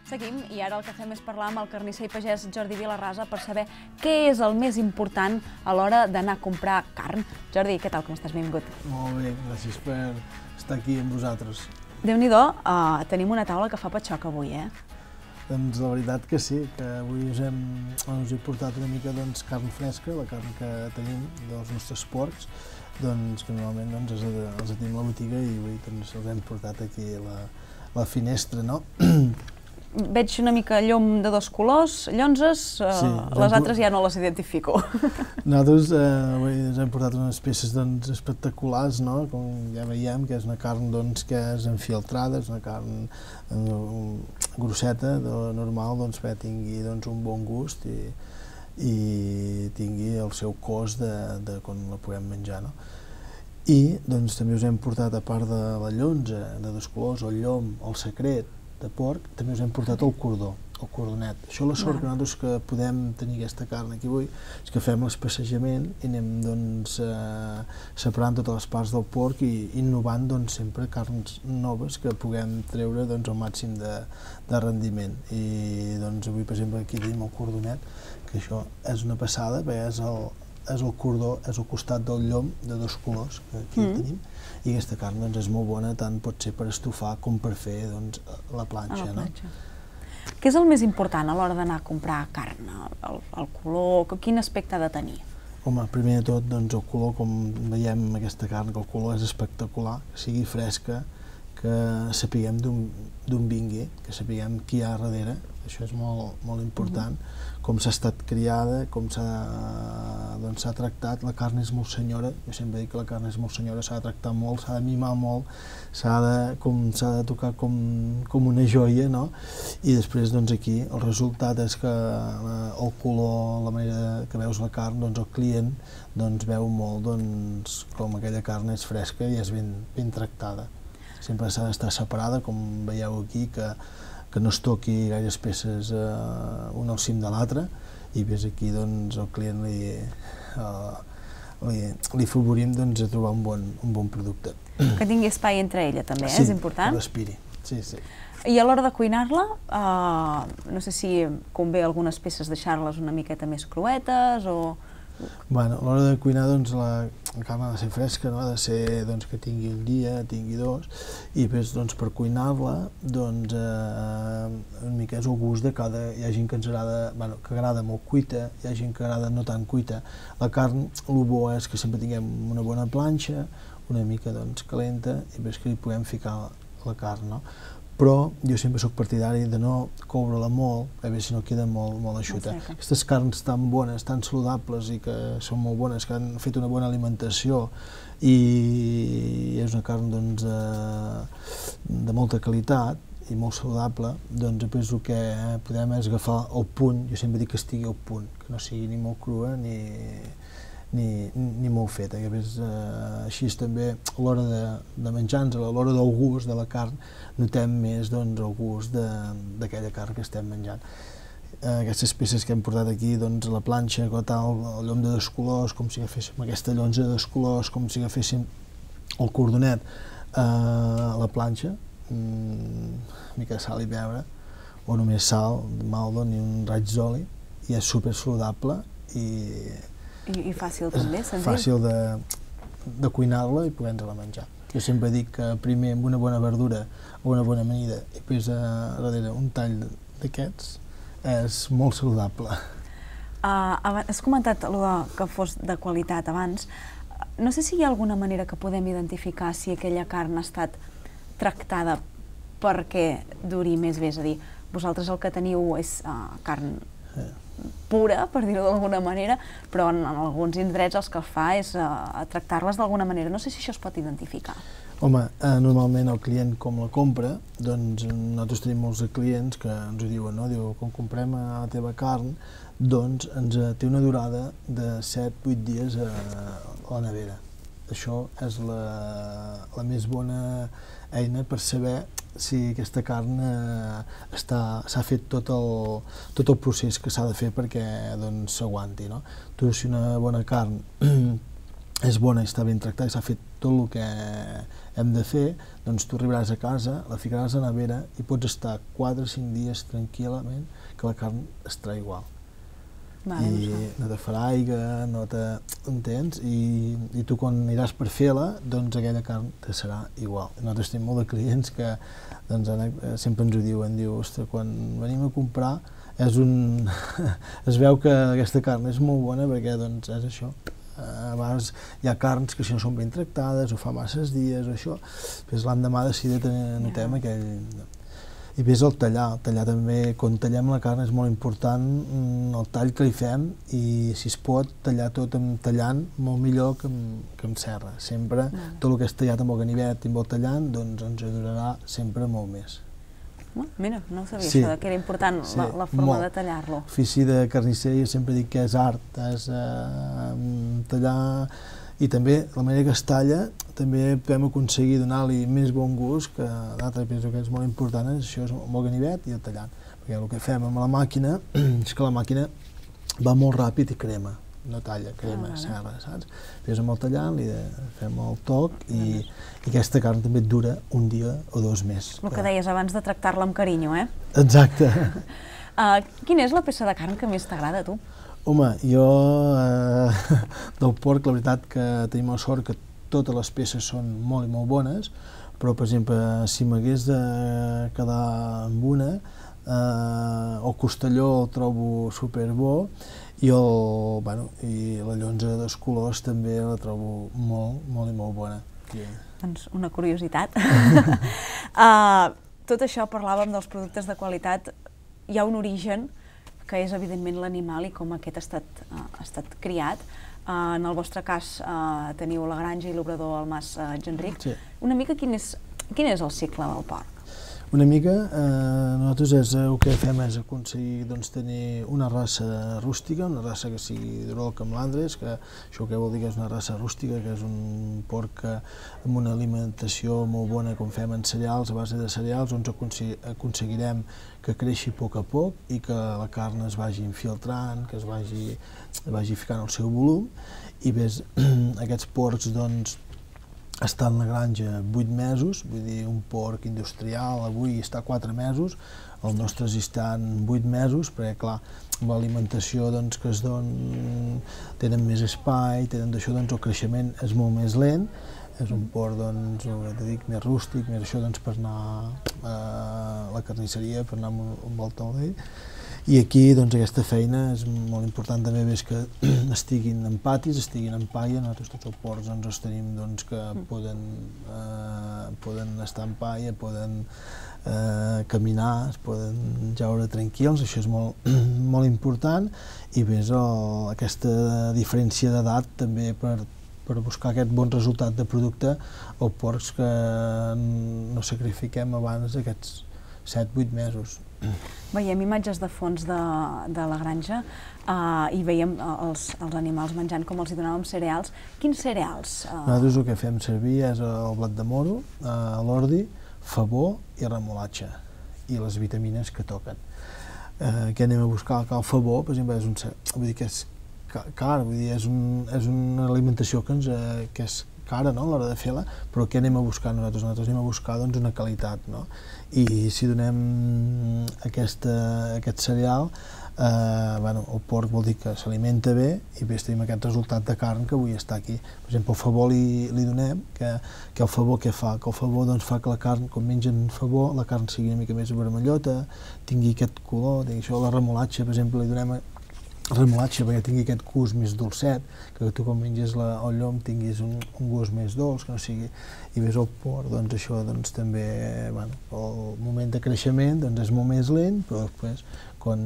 Seguim i ara el que fem és parlar amb el carnisser i pagès Jordi Vilarrasa per saber què és el més important a l'hora d'anar a comprar carn. Jordi, què tal, com estàs? Benvingut. Molt bé, gràcies per estar aquí amb vosaltres. Déu-n'hi-do, tenim una taula que fa patxoc avui, eh? Doncs la veritat que sí, que avui us he portat una mica carn fresca, la carn que tenim dels nostres porcs, que normalment els tenim a la botiga i avui els hem portat aquí a la finestra, no? Veig una mica llom de dos colors, llonzes, les altres ja no les identifico. Nosaltres us hem portat unes peces espectaculars, no? Com ja veiem, que és una carn que és enfialtrada, és una carn grosseta, normal, que tingui un bon gust i tingui el seu cos de quan la puguem menjar, no? I també us hem portat, a part de la llonza de dos colors, el llom, el secret de porc, també us hem portat el cordó, el cordonet. Això la sort que nosaltres que podem tenir aquesta carn aquí avui és que fem l'espassejament i anem separant totes les parts del porc i innovant sempre carns noves que puguem treure el màxim de rendiment. I avui, per exemple, aquí tenim el cordonet, que això és una passada, perquè és el cordó, és el costat del llom de dos colors, que aquí el tenim, i aquesta carn és molt bona, tant pot ser per estofar com per fer la planxa. Què és el més important a l'hora d'anar a comprar carn? El color, quin aspecte ha de tenir? Home, primer de tot, el color, com veiem aquesta carn, que el color és espectacular, que sigui fresca, que sapiguem d'on vingui, que sapiguem qui hi ha darrere, això és molt important, com s'ha estat criada, com s'ha tractat. La carn és molt senyora, jo sempre dic que la carn és molt senyora, s'ha de tractar molt, s'ha de mimar molt, s'ha de tocar com una joia, no? I després aquí el resultat és que el color, la manera que veus la carn, el client veu molt com aquella carn és fresca i és ben tractada. Sempre s'ha d'estar separada, com veieu aquí, que no es toqui gaires peces un al cim de l'altre, i ves aquí el client li favorim a trobar un bon producte. Que tingui espai entre ella també, és important? Sí, que respiri, sí. I a l'hora de cuinar-la, no sé si convé algunes peces deixar-les una miqueta més cruetes o... Bueno, a l'hora de cuinar la carn ha de ser fresca, ha de ser que tingui un dia, tingui dos, i després per cuinar-la una mica és el gust de cada... Hi ha gent que agrada molt cuita, hi ha gent que agrada no tan cuita. La carn, el bo és que sempre tinguem una bona planxa, una mica calenta, i després que li puguem ficar la carn, no? Però jo sempre soc partidari de no coure-la molt, a veure si no queda molt eixuta. Aquestes carns tan bones, tan saludables i que són molt bones, que han fet una bona alimentació i és una carn de molta qualitat i molt saludable, després el que podem és agafar el punt, jo sempre dic que estigui al punt, que no sigui ni molt crua ni molt feta, que així també a l'hora de menjar-nos, a l'hora del gust de la carn, notem més el gust d'aquella carn que estem menjant. Aquestes peces que hem portat aquí, la planxa, el llom de dos colors, com si agaféssim aquesta llonza de dos colors, com si agaféssim el cordonet a la planxa, una mica de sal i pebre, o només sal, maldo, ni un raig d'oli, i és super saludable i fàcil també, senzill? Fàcil de cuinar-la i poder-nos-la menjar. Jo sempre dic que primer amb una bona verdura o una bona amanida i després darrere un tall d'aquests és molt saludable. Has comentat que fos de qualitat abans. No sé si hi ha alguna manera que podem identificar si aquella carn ha estat tractada perquè duri més bé, és a dir, vosaltres el que teniu és carn pura, per dir-ho d'alguna manera, però en alguns indrets el que es fa és tractar-les d'alguna manera. No sé si això es pot identificar. Home, normalment el client com la compra, nosaltres tenim molts clients que ens ho diuen, quan comprem la teva carn, ens té una durada de 7-8 dies a la nevera. Això és la més bona eina per saber si aquesta carn s'ha fet tot el procés que s'ha de fer perquè s'aguanti. Tu, si una bona carn és bona i està ben tractada i s'ha fet tot el que hem de fer, doncs tu arribaràs a casa, la ficaràs a la nevera i pots estar 4 o 5 dies tranquil·lament que la carn estarà igual. I no te farà aigua, no te... entens? I tu quan aniràs per fer-la, doncs aquella carn te serà igual. Nosaltres tenim molt de clients que sempre ens ho diuen, ostres, quan venim a comprar es veu que aquesta carn és molt bona perquè doncs és això. A vegades hi ha carns que si no són ben tractades o fa masses dies o això, després l'endemà de seguida notem aquell... I ves el tallar també, quan tallem la carn és molt important el tall que li fem i si es pot tallar tot tallant molt millor que amb serra. Sempre tot el que és tallat amb el ganivet i amb el tallant doncs ens durarà sempre molt més. Mira, no ho sabia això, que era important la forma de tallar-lo. L'ofici de carnisser jo sempre dic que és art, és tallar i també la manera que es talla també podem aconseguir donar-li més bon gust que l'altre, penso que és molt important, això és amb el ganivet i el tallant, perquè el que fem amb la màquina és que la màquina va molt ràpid i crema, no talla, crema, serra, saps? Després amb el tallant li fem el toc i aquesta carn també et dura un dia o 2 més. El que deies abans de tractar-la amb carinyo, eh? Exacte. Quina és la peça de carn que més t'agrada a tu? Home, jo del porc, la veritat que tenim la sort que totes les peces són molt i molt bones, però per exemple, si m'hagués de quedar amb una, el costelló el trobo superbo i la llonza de 2 colors també la trobo molt i molt bona. Doncs una curiositat. Tot això parlàvem dels productes de qualitat, hi ha un origen que és evidentment l'animal i com aquest ha estat criat. En el vostre cas teniu la granja i l'obrador al Mas Genric. Una mica quin és el cicle del porc? Una mica, nosaltres el que fem és aconseguir tenir una raça rústica, una raça que sigui d'Urol com l'Andres, que això què vol dir que és una raça rústica, que és un porc amb una alimentació molt bona com fem en cereals, a base de cereals, on aconseguirem que creixi a poc i que la carn es vagi infiltrant, que es vagi ficant el seu volum, i ves, aquests porcs està en la granja 8 mesos, vull dir, un porc industrial avui està 4 mesos, els nostres hi estan 8 mesos, perquè clar, amb l'alimentació que es donen, tenen més espai, tenen d'això, el creixement és molt més lent, és un porc, més rústic, més això per anar a la carnisseria, per anar amb el taulell. I aquí aquesta feina és molt important també, ves que estiguin en patis, estiguin en paia, nosaltres tots els porcs els tenim que poden estar en paia, poden caminar, es poden jaure tranquils, això és molt important, i ves aquesta diferència d'edat també per buscar aquest bon resultat de producte o porcs que no sacrifiquem abans d'aquests 7-8 mesos. Veiem imatges de fons de la granja i veiem els animals menjant com els hi donàvem cereals. Quins cereals? Nosaltres el que fem servir és el blat de moro, l'ordi, favor i remolatxa, i les vitamines que toquen. Què anem a buscar? El favor, per exemple, és car, és una alimentació que és cara a l'hora de fer-la, però què anem a buscar nosaltres? Nosaltres anem a buscar una qualitat, i si donem aquest cereal, el porc vol dir que s'alimenta bé i tenim aquest resultat de carn que avui està aquí. Per exemple, el favor li donem, que el favor què fa? Que el favor fa que la carn, quan mengen favor, la carn sigui una mica més vermellota, tingui aquest color, la remolatxa, per exemple, li donem remolatxa perquè tingui aquest gust més dolcet, que tu quan menges el llom tinguis un gust més dolç, que no sigui... I ves el porc, això també, el moment de creixement és molt més lent, però després, quan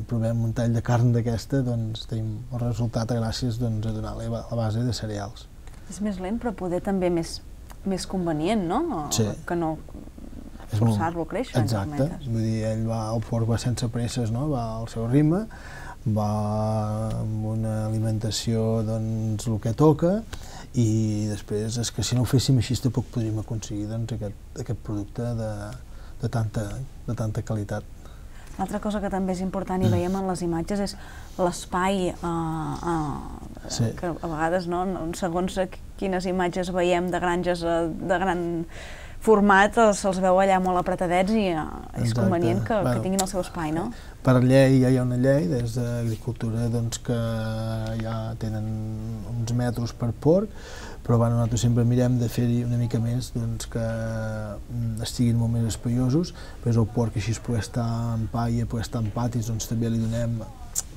provem un tall de carn d'aquesta, tenim el resultat gràcies a donar-li a base de cereals. És més lent, però poder també més convenient, no? Sí. Que no forçar-lo a créixer. Exacte, vull dir, el porc va sense presses, va al seu ritme, va amb una alimentació el que toca, i després és que si no ho féssim així tampoc podríem aconseguir aquest producte de tanta qualitat. L'altra cosa que també és important i veiem en les imatges és l'espai, que a vegades, segons quines imatges veiem de granges de gran format, se'ls veu allà molt apretadets i és convenient que tinguin el seu espai, no? Per llei ja hi ha una llei des d'Agricultura que ja tenen uns metres per porc, però nosaltres sempre mirem de fer-hi una mica més que estiguin molt més espaiosos, però el porc així pugui estar en paia, pugui estar en patis, també li donem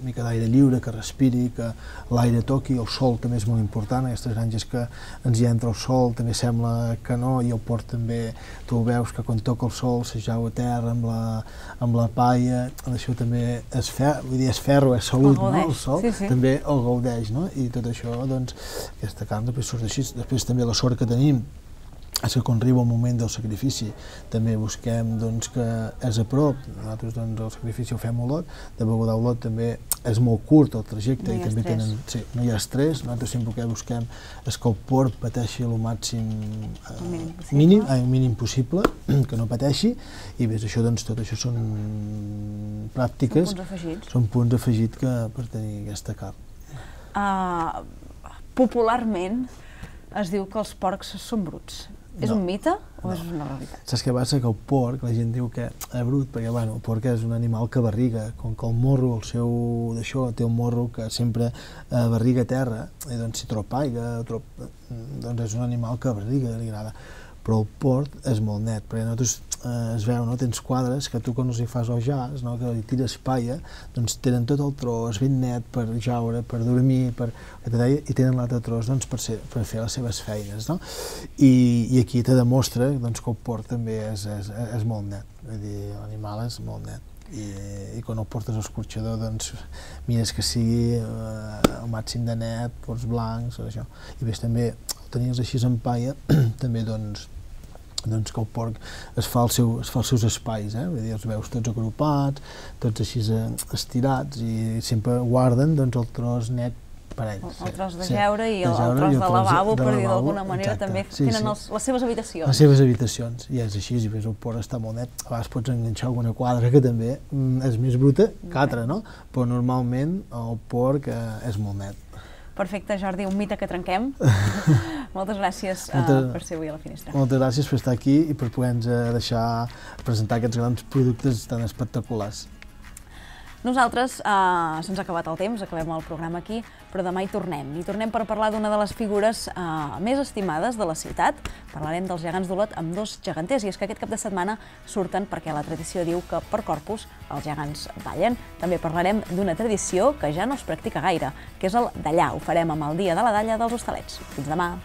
una mica d'aire lliure, que respiri, que l'aire toqui, el sol també és molt important, aquestes granges que ens hi entra el sol també sembla que no, i el porc també, tu ho veus que quan toca el sol s'ajau a terra amb la paia, això també és ferro, és salut, el sol també el gaudeix, i tot això, aquesta carn després surt així, després també la sort que tenim és que quan arriba el moment del sacrifici també busquem que és a prop, nosaltres el sacrifici ho fem a Olot, de Beguda a Olot també és molt curt el trajecte i també tenen, no hi ha estrès, nosaltres sempre el que busquem és que el porc pateixi el màxim mínim possible, que no pateixi, i bé, tot això són pràctiques, són punts afegits per tenir aquesta carn. Popularment es diu que els porcs són bruts. És un mite o és una realitat? Saps què passa? Que el porc, la gent diu que és brut, perquè el porc és un animal que barriga, com que el morro, té un morro que sempre barriga a terra, i si troba aigua, és un animal que barriga, li agrada. Però el porc és molt net, perquè nosaltres es veu, tens quadres que tu quan els hi fas el jaç, que li tires paia, tenen tot el tros ben net per jaure, per dormir, i tenen l'altre tros per fer les seves feines. I aquí te demostra que el porc també és molt net, vull dir, l'animal és molt net. I quan el portes a l'escorxador mires que sigui el màxim de net, porcs blancs, això. I ves també, tenies així en paia, també que el porc es fa els seus espais, vull dir, els veus tots agrupats, tots així estirats i sempre guarden el tros net per ells. El tros de jeure i el tros de lavabo, per dir d'alguna manera, també tenen les seves habitacions. Les seves habitacions, i és així, i el porc està molt net. A vegades pots enganxar alguna quadra que també és més bruta que altra, però normalment el porc és molt net. Perfecte, Jordi, un mite que trenquem. Moltes gràcies per ser avui a la Finestra. Moltes gràcies per estar aquí i per poder-nos deixar presentar aquests grans productes tan espectaculars. Nosaltres se'ns ha acabat el temps, acabem el programa aquí, però demà hi tornem. Hi tornem per parlar d'una de les figures més estimades de la ciutat. Parlarem dels gegants d'Olot amb dos geganters, i és que aquest cap de setmana surten perquè la tradició diu que per Corpus els gegants ballen. També parlarem d'una tradició que ja no es practica gaire, que és el dallar. Ho farem amb el Dia de la Dalla dels Hostalets. Fins demà!